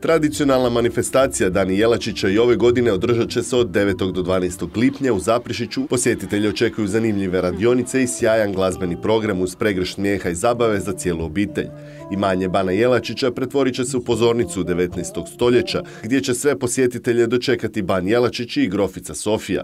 Tradicionalna manifestacija Dani Jelačića i ove godine održat će se od 9. do 12. lipnja u Zaprešiću. Posjetitelji očekuju zanimljive radionice i sjajan glazbeni program uz pregršt smijeha i zabave za cijelu obitelj. Imanje Bana Jelačića pretvorit će se u pozornicu 19. stoljeća, gdje će sve posjetitelje dočekati Ban Jelačić i grofica Sofija.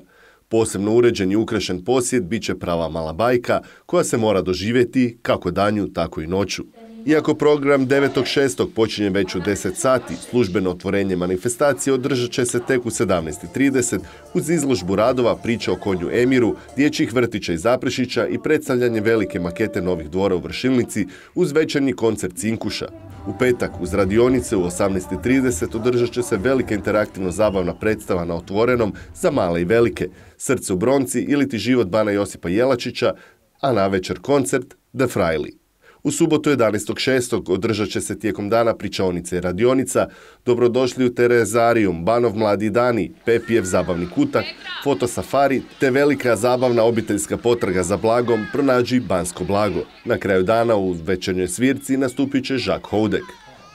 Posebno uređen i ukrašen posjet bit će prava mala bajka koja se mora doživjeti kako danju, tako i noću. Iako program 9.6. počinje već u 10 sati, službeno otvorenje manifestacije održat će se tek u 17.30 uz izložbu radova, priča o konju Emiru, dječjih vrtića iz Zaprešića i predstavljanje velike makete novih dvora u Vršilnici uz večernji koncert Cinkuša. U petak uz radionice u 18.30 održat će se velika interaktivno zabavna predstava na otvorenom za male i velike, Srce u bronci ili ti život Bana Josipa Jelačića, a navečer koncert The Frajli. U subotu 11.6. održat će se tijekom dana pričaonica i radionica, Dobrodošli u Terezarijum, Banov mladi dani, Pepijev zabavni kutak, fotosafari te velika zabavna obiteljska potraga za blagom Pronađi bansko blago. Na kraju dana u večernjoj svirci nastupit će Žak Houdek.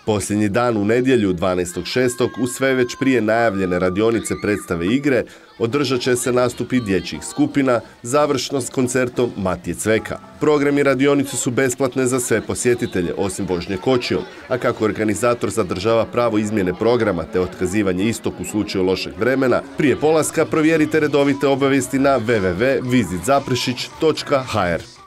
Posljednji dan u nedjelju 12.6. uz sve već prije najavljene radionice, predstave i igre održat će se nastupi dječjih skupina, završno s koncertom Matije Cveka. Programi radionice su besplatne za sve posjetitelje, osim vožnje kočijom, a kako organizator zadržava pravo izmjene programa te otkazivanje istog u slučaju lošeg vremena, prije polaska provjerite redovite obavijesti na www.vizitzaprešić.hr.